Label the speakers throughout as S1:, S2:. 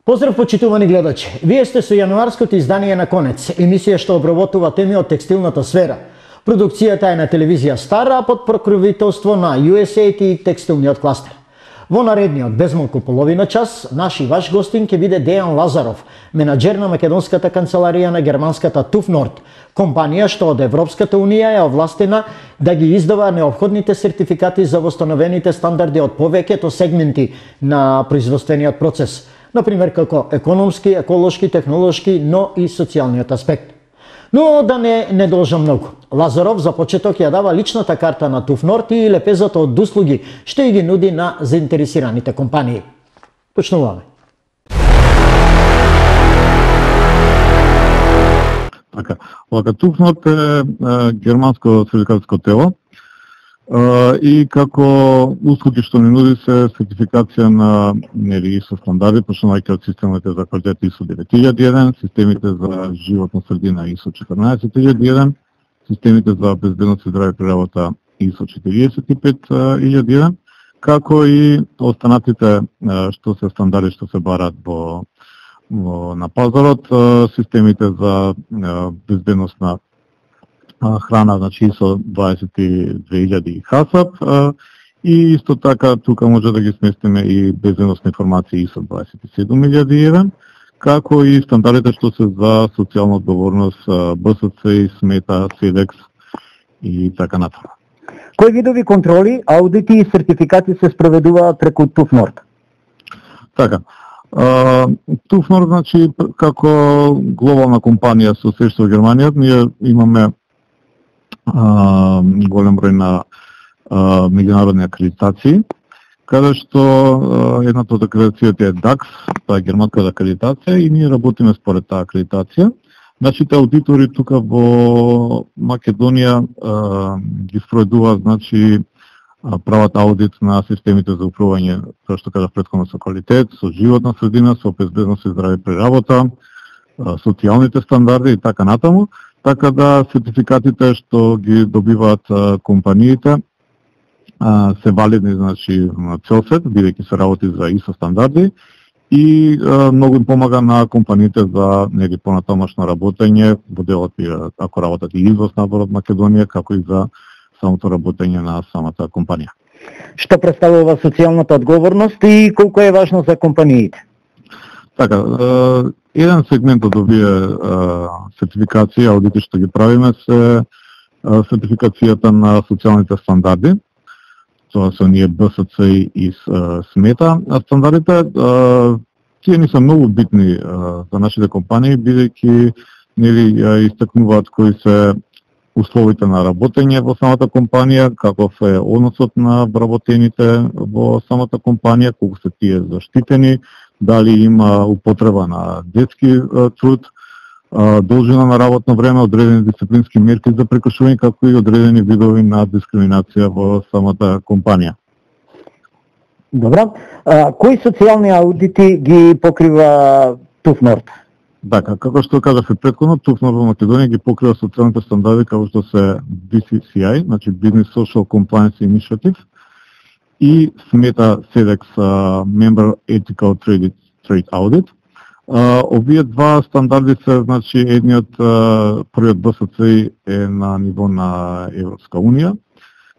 S1: Поздрав, почитувани гледачи. Вие сте со јануарското издание на Конец, емисија што обработува теми од текстилната сфера. Продукцијата е на телевизија Стара, под покровителство на USAID и текстилниот кластер. Во наредниот безмалку половина час, наш и ваш гостин ќе биде Дејан Лазаров, менаџер на македонската канцеларија на германската TÜV Nord, компанија што од Европската унија е овластена да ги издава неопходните сертификати за восстановените стандарди од повеќето сегменти на производствениот процес, например како економски, еколошки, технолошки, но и социјалниот аспект. Но да не должам многу. Лазаров за почеток ја дава личната карта на TÜV Nord и лепезата од услуги што и ги нуди на заинтересираните компании. Почнуваме.
S2: Така, TÜV Nord е германско сертификатско тело и како услуги што ни нуди се сертификација на ISO стандарди, почнувајќи од системите за квалитет ISO 9001, системите за животна средина ISO 14001, системите за безбедност и здраве при работа ISO 45001, како и останатите што се стандарди што се барат на пазарот, системите за безбедност на храна, значи ISO 22000 HACCP, и исто така тука може да ги сместиме и безбедносни информации ISO 27001, како и стандардите што се за социјална одговорност, БСЦ, СМЕТА, СЕДЕКС и така натаму.
S3: Кои видови контроли, аудити и сертификати се спроведуваат преку TÜV Nord?
S2: Така, TÜV Nord, значи, како глобална компанија со средство во Германија, ние имаме голем број на меѓународни акредитации, каде што едната од акредитацијата е DAX, тоа е германската акредитација, и ние работиме според таа акредитација. Нашите аудитори тука во Македонија ги спроведуваат, значи, прават аудит на системите за управување, тоа што кажав претходно, со квалитет, со животна средина, со безбедност и здраве при работа, социјалните стандарди и така натаму. Така да сертификатите што ги добиваат компаниите се валидни, значи, на цел свет, бидејќи се работи за ISO стандарди, и многу им помага на компаниите за понатамошно работење во делот, ако работат и извоз набор од Македонија, како и за самото работење на самата компанија.
S3: Што представува социјалната одговорност и колку е важно за компаниите?
S2: Така, еден сегмент од овие сертификации, аудити што ги правиме, се сертификацијата на социјалните стандарди. Тоа се ние БСЦ и СМЕТА. Стандардите, тие не се многу битни за нашите компании, бидејќи истакнуваат кои се условите на работење во самата компанија, каков е односот на вработените во самата компанија, колку се тие заштитени, дали има употреба на детски труд, должина на работно време, одредени дисциплински мерки за прекршување, како и одредени видови на дискриминација во самата компанија.
S3: Добро. Кои социјални аудити ги покрива TÜV Nord?
S2: Така, како што кажав и претходно, TÜV Nord во Македонија ги покрива социјалните стандарди како што се BCCI, значи Business Social Compliance Initiative, и СМЕТА SEDEX Member Ethical Trade Audit. Овие два стандарди се, значи, едниот, првиот БСЦ е на ниво на Европска унија,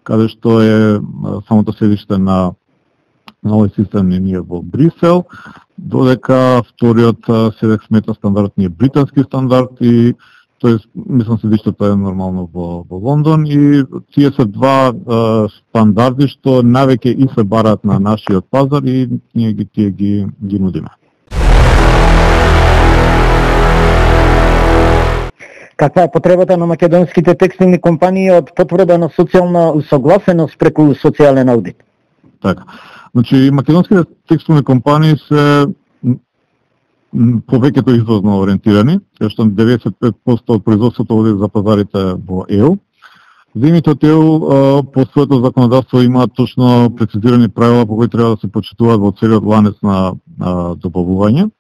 S2: каде што е самото седиште на овој систем ние во Брисел, додека вториот SEDEX СМЕТА стандард е британски стандард, и тоест, мислам, седиштето е нормално во Лондон, и тие се два стандарди што навеќе и се бараат на нашиот пазар, и ние ги нудиме.
S3: Каква е потребата на македонските текстилни компании од потврда на социјална усогласеност преку социјален аудит?
S2: Така. Значи, македонските текстилни компании се повеќето извозно ориентирани, кај што 95% од производството оди за пазарите во ЕУ. Земјите од ЕУ по своето законодавство имаат точно прецизирани правила по кои треба да се почитуваат во целиот ланец на добавување.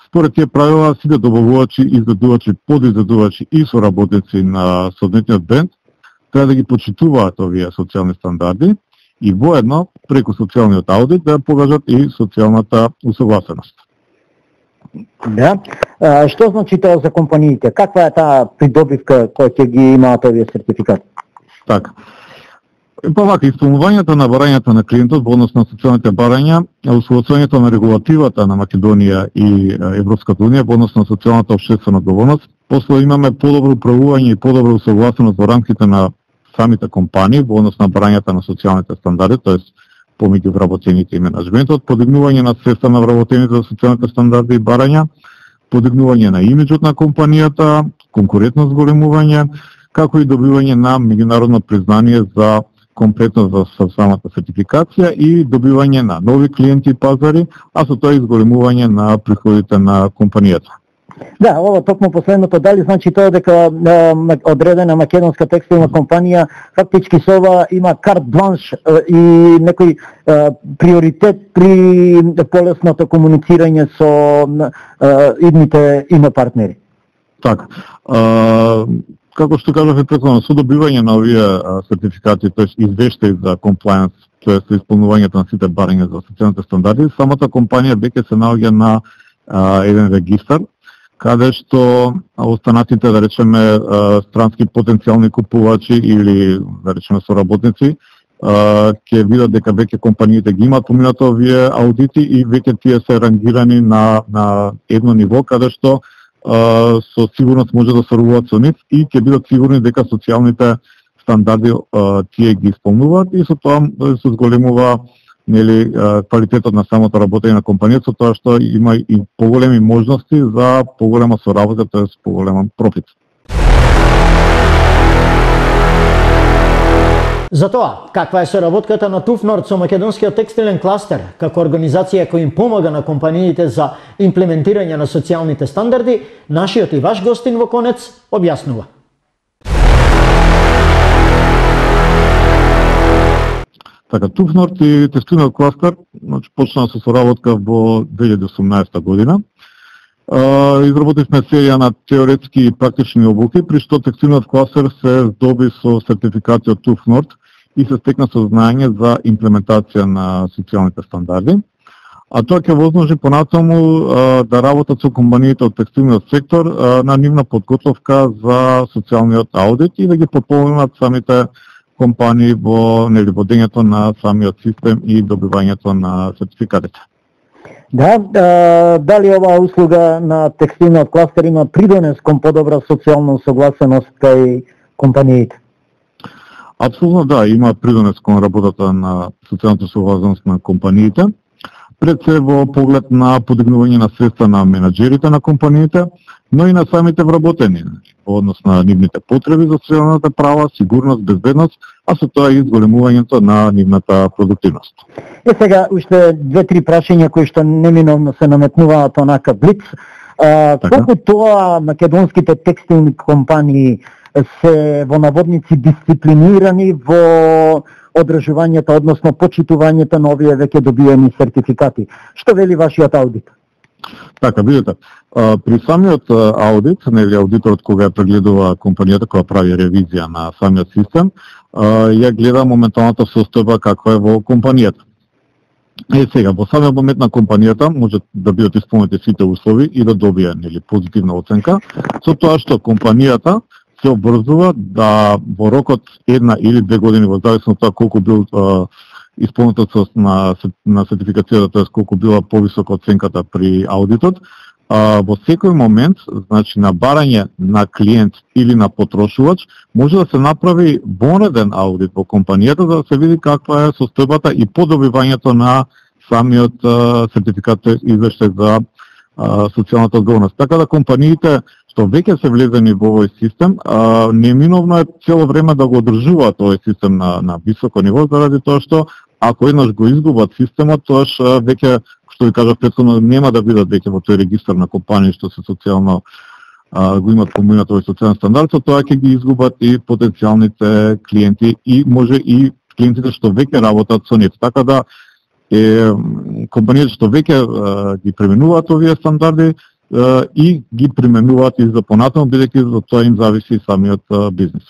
S2: Според тие правила, сите добавувачи, издадувачи, подиздадувачи и соработници на соодветниот бренд треба да ги почитуваат овие социјални стандарди и воедно преку социјалниот аудит да покажат и социјалната усогласеност.
S3: Да. Што значи тоа за компаниите? Каква е таа придобивка која ќе ги имаат овие сертификати?
S2: Така. Па вака, исполнувањето на барањата на клиентот во однос на социјалните барања, усвојувањето на регулативата на Македонија и Европската унија во однос на социјалната општествена одговорност, после имаме подобро управување и подобра усогласеност во рамките на самите компании во однос на барањата на социјалните стандарди, тоест помеѓу вработените и менаџментот, подигнување на свеста на вработените за социјалните стандарди и барања, подигнување на имиџот на компанијата, конкурентно зголемување, како и добивање на меѓународно признание за комплетност за самата сертификација и добивање на нови клиенти и пазари, а со тоа изголемување на приходите на компанијата.
S3: Да, ова токму последното, дали значи тоа дека одредена македонска текстилна компанија фактички со ова има карт бланш и некој приоритет при полесното комуницирање со идните партнери?
S2: Така. Како што кажавме претходно, со добивање на овие сертификати, тоест извештаи за комплајенс, тоест исполнувањето на сите барања за социјалните стандарди, самата компанија веќе се наоѓа на еден регистар, каде што останатите, да речеме, странски потенцијални купувачи или, да речеме, соработници, ќе видат дека веќе компаниите ги имаат поминато овие аудити и веќе тие се рангирани на едно ниво, каде што со сигурност може да соработат со нив и ќе бидат сигурни дека социјалните стандарди тие ги исполнуваат и со тоа се зголемува квалитетот на самото работење на компанијата, со тоа што има и поголеми можности за поголема соработа, тоест поголем профит.
S1: За тоа, каква е соработката на Туфнорд со македонскиот текстилен кластер, како организација која им помага на компаниите за имплементирање на социјалните стандарди, нашиот и ваш гостин во Конец објаснува.
S2: Така, Туфнорд и текстилниот кластер почнаа со соработка во 2018 година. Изработивме серија на теоретски и практични обуки, при што текстилниот кластер се здоби со сертификација од Туфнорд и се стекна со знаење за имплементација на социјалните стандарди. А тоа ќе возможи понатаму да работат со компаниите од текстилниот сектор на нивна подготовка за социјалниот аудит и да ги потполнат самите компании во водењето на самиот систем и добивањето на сертификатите.
S3: Да, дали оваа услуга на текстилниот кластер има придонес кон подобра социјална согласеност кај компаниите?
S2: Апсолутно да, има придонес кон работата на социјалната согласеност на компаниите. Пред се во поглед на подигнување на свеста на менаџерите на компаниите, но и на самите вработени, во однос на нивните потреби за социјалната права, сигурност, безбедност, а со тоа и зголемувањето на нивната продуктивност.
S3: Сега уште 2-3 прашања кои што неминовно се наметнуваат онака блиц. Колку тоа македонските текстилни компании се во наводници дисциплинирани во одржувањето, односно почитувањето на овие веќе добиени сертификати? Што вели вашиот аудит?
S2: Така, видите, при самиот аудит, аудиторот кога ја прегледува компанијата, која прави ревизија на самиот систем, ја гледа моменталната состојба каква е во компанијата. Сега, во самиот момент на компанијата може да бидат исполнети сите услови и да добие позитивна оценка, со тоа што компанијата се обврзува да во рокот 1 или 2 години, во зависност од тоа колку бил исполнетост на сертификацијата, тоест колку била повисока оценката при аудитот, во секој момент, значи на барање на клиент или на потрошувач, може да се направи вонреден аудит во компанијата за да се види каква е состојбата и подобивањето на самиот сертификат, извештај за социјалната одговорност. Така да компаниите што веќе се влезени во овој систем, неминовно е цело време да го одржуваат овој систем на високо ниво, заради тоа што ако еднаш го изгубат системот, тоаш веќе, што ви кажав претходно, нема да бидат веќе во тој регистар на компании што се социјално го имат поминат овој социјален стандард, тоа ќе ги изгубат и потенцијалните клиенти и може и клиентите што веќе работат со нив. Така да компаниите што веќе ги применуваат овие стандарди и ги применуваат и за понатаму, бидејќи за тоа им зависи и самиот бизнес.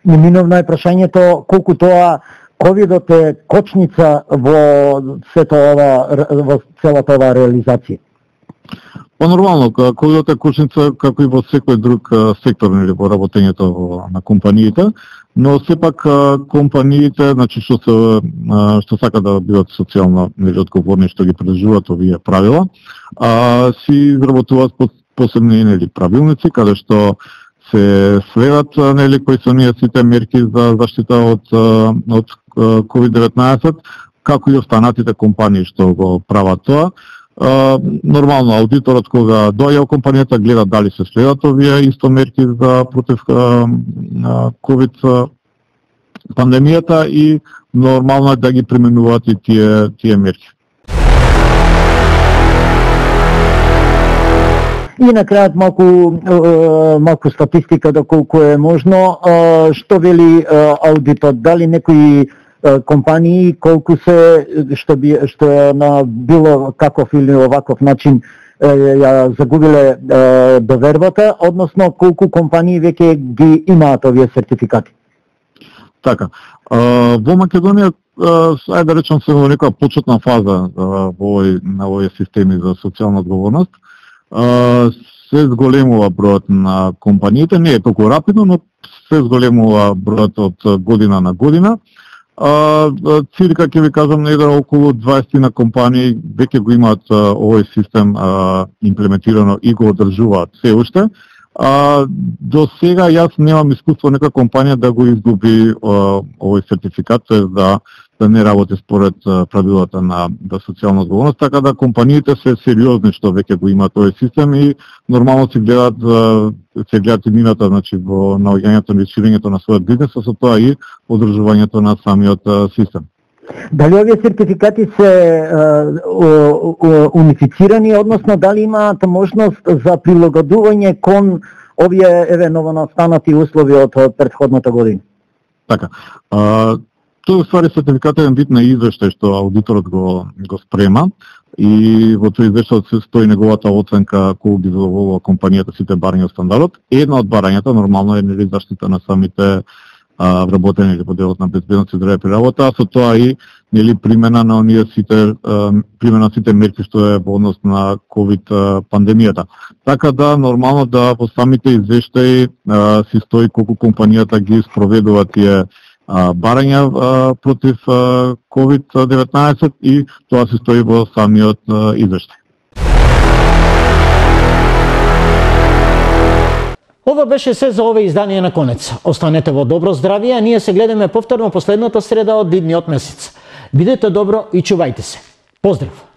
S3: Неминовно е прашањето колку тоа ковидот е кочница во сето ова, во целата оваа реализација.
S2: Па нормално, ковидот е кошница како и во секој друг сектор или во работењето на компаниите, но сепак компаниите, значи што сака да бидат социјално нели одговорни, што ги придржуваат овие правила, си изработуваат посебни нели правилници каде што се следат нели кои се оние сите мерки за заштита од COVID-19, како и останатите компании што го прават тоа. Нормално аудиторот кога доаѓа во компанијата гледа дали се следат овие исто мерки за против COVID пандемијата и нормално е да ги применуваат и тие мерки.
S3: И на крајот малку статистика доколку е можно, што вели аудитот, дали некои компании колку се што на било каков или оваков начин ја загубиле довербата, односно колку компании веќе ги имаат овие сертификати.
S2: Така. Во Македонија, ајде да речам се во некоја почетна фаза на овие системи за социјална одговорност, се зголемува бројот на компаниите, не е толку рапидно, но се зголемува бројот од година на година. Цирка ќе ви кажам негде околу 20 на компании веќе го имаат овој систем имплементирано и го одржуваат се уште. До сега јас немам искуство нека компанија да го изгуби овој сертификат, да не работи според правилата на социјална одговорност, така да компаниите се сериозни што веќе го имаат овој систем и нормално се гледат иднината, значи во наоѓањето и ширењето на својот бизнес, со тоа и одржувањето на самиот систем.
S3: Дали овие сертификати се унифицирани, односно дали имаат можност за прилагодување кон овие новонастанати услови од претходната година?
S2: Така. Тој ствари сертификатен вид на извештај што аудиторот го спрема и во тој извештај се стои неговата оценка колку ги задоволува компанијата сите барања од стандардот. Една од барањата нормално е нели заштита на самите вработени или по делот на безбедност и здравје при работа, а со тоа и нели примена на оние сите мерки што е во однос на ковид пандемијата. Така да нормално да во самите извештаи си стои колку компанијата ги спроведува тие барања против COVID-19 и тоа се стои во самиот извештај.
S1: Ова беше се за овој издание на Конец. Останете во добро здравје, а ние се гледаме повторно последната среда од идниот месец. Бидете добро и чувајте се. Поздрав!